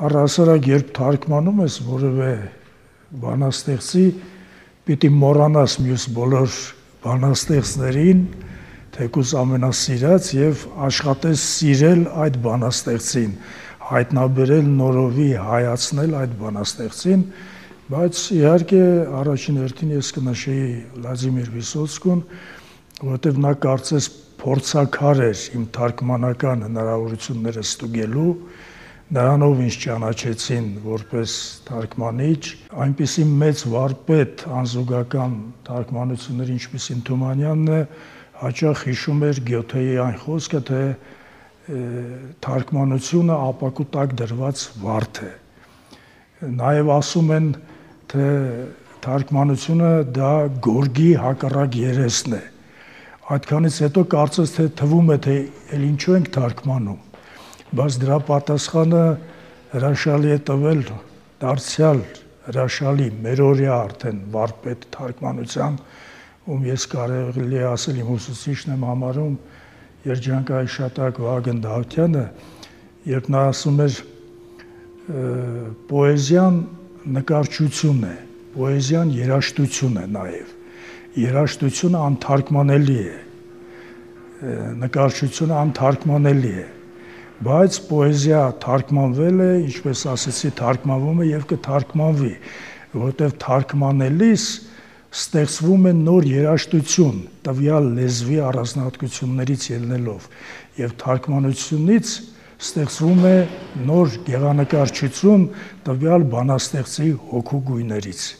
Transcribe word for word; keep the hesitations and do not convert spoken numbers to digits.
Առհասարակ երբ թարգմանում ես որևէ բանաստեղծի, պիտի մոռանաս մյուս բոլոր բանաստեղծներին, թեկուզ ամենասիրած եւ աշխատես սիրել այդ բանաստեղծին, հայտնաբերել նորովի, հայացնել այդ բանաստեղծին, բայց իհարկե առաջին հերթին ես կնշեի Վլադիմիր Վիսոցկուն, որովհետեւ նա կարծես փորձաքար էր իմ թարգմանական հնարավորությունները ստուգելու, նրանով ինձ ճանաչեցին որպես թարգմանիչ, այնպիսի մեծ վարպետ անզուգական թարգմանությունների, ինչպիսին Թումանյանն է, հաճախ հիշում էր Գյոթեի այն խոսքը, թե թարգմանությունը ապակու տակ դրված վարդ է։ Նաև ասում են, թե թարգմանությունը դա գորգի հակառակ երեսն է։ Այդքանից հետո կարծես թե թվում է, թե էլ ինչու ենք թարգմանում, բայց դրա պատասխանը հրաշալի է տվել դարձյալ հրաշալի մերօրյա արդեն վարպետ թարգմանության, ում ես կարելի է ասել իմ ուսուցիչն եմ համարում երջանկայի շատակ Վահագն Դավթյանը, երբ նա ասում էր պոեզիան նկարչություն է, պոեզիան երաժշտություն է նաև, երաժշտությունը անթարգմանելի է, նկարչությունը անթարգմանելի է, բայց պոեզիա թարգմանվել է, ինչպես ասեցի, թարգմանվում է եւ կթարգմանվի, որովհետեւ թարգմանելիս ստեղծվում է նոր երաժշտություն, տվյալ լեզվի առանձնահատկություններից ելնելով, եւ թարգմանությունից ստեղծվում է նոր գեղանկարչություն տվյալ բանաստեղծի հոգու գույներից։